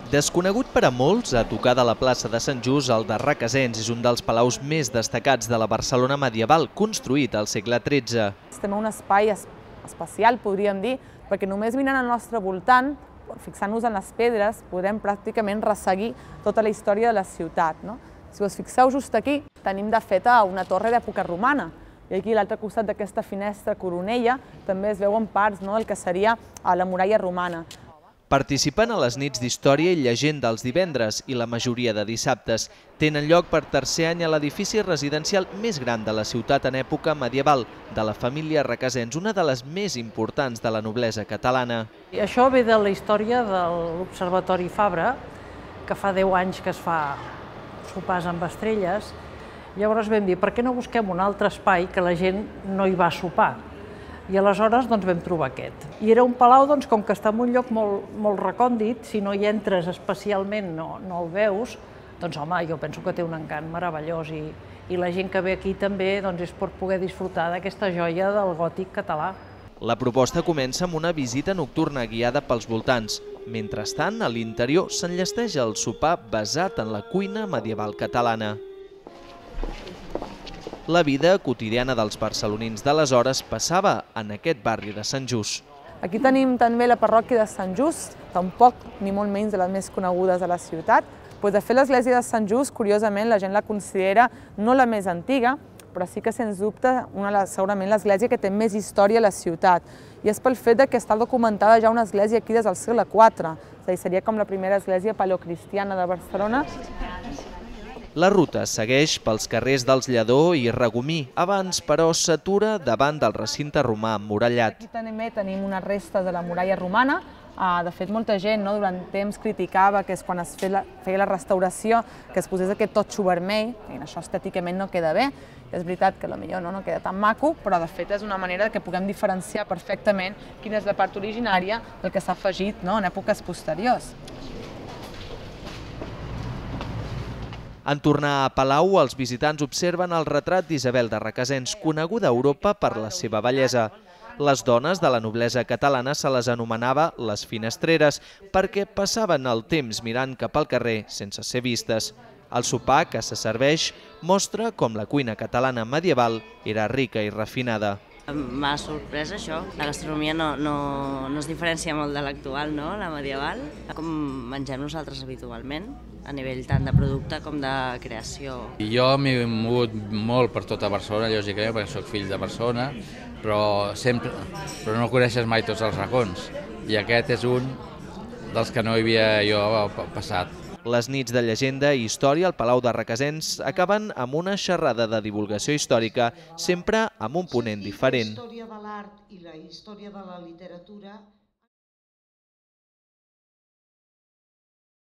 Desconegut per a molts, a tocar de la plaça de Sant Just, el de Requesens és un dels palaus més destacats de la Barcelona medieval, construït al segle XIII. Estem en un espai especial, podríem dir, perquè només mirant al nostre voltant, fixant-nos en les pedres, podrem pràcticament resseguir tota la història de la ciutat. Si us fixeu just aquí, tenim de fet una torre d'època romana. I aquí a l'altre costat d'aquesta finestra coronella també es veuen parts del que seria la muralla romana. Participen a les nits d'història i llegenda els divendres i la majoria de dissabtes. Tenen lloc per tercer any a l'edifici residencial més gran de la ciutat en època medieval, de la família Requesens, una de les més importants de la noblesa catalana. I això ve de la història de l'Observatori Fabra, que fa 10 anys que es fa sopars amb estrelles. Llavors vam dir, per què no busquem un altre espai que la gent no hi va sopar? I aleshores vam trobar aquest. I era un palau, com que està en un lloc molt recòndit, si no hi entres especialment no el veus, home, jo penso que té un encant meravellós i la gent que ve aquí també és per poder disfrutar d'aquesta joia del gòtic català. La proposta comença amb una visita nocturna guiada pels voltants. Mentrestant, a l'interior s'enllesteix el sopar basat en la cuina medieval catalana. La vida quotidiana dels barcelonins d'aleshores passava en aquest barri de Sant Just. Aquí tenim també la parròquia de Sant Just, tampoc ni molt menys de les més conegudes de la ciutat. De fet, l'església de Sant Just, curiosament, la gent la considera no la més antiga, però sí que, sens dubte, segurament l'església que té més història a la ciutat. I és pel fet que està documentada ja una església aquí des del segle IV, és a dir, seria com la primera església paleocristiana de Barcelona. La ruta segueix pels carrers dels Lledó i Regomí, abans, però, s'atura davant del recinte romà emmurallat. Aquí també tenim unes restes de la muralla romana. De fet, molta gent durant temps criticava que quan es feia la restauració que es posés aquest totxo vermell, i això estèticament no queda bé. És veritat que potser no queda tan maco, però de fet és una manera que puguem diferenciar perfectament quina és la part originària del que s'ha afegit en èpoques posteriors. En tornar a Palau, els visitants observen el retrat d'Isabel de Requesens, coneguda a Europa per la seva bellesa. Les dones de la noblesa catalana se les anomenava les finestreres perquè passaven el temps mirant cap al carrer sense ser vistes. El sopar que se serveix mostra com la cuina catalana medieval era rica i refinada. M'ha sorprès això. La gastronomia no es diferencia molt de l'actual, la medieval, com mengem nosaltres habitualment, a nivell tant de producte com de creació. Jo m'he mogut molt per tota Barcelona, lògicament, perquè soc fill de Barcelona, però no coneixes mai tots els racons. I aquest és un dels que no hi havia jo passat. Les nits de llegenda i història al Palau de Requesens acaben amb una xerrada de divulgació històrica, sempre amb un ponent diferent. La història de l'art i la història de la literatura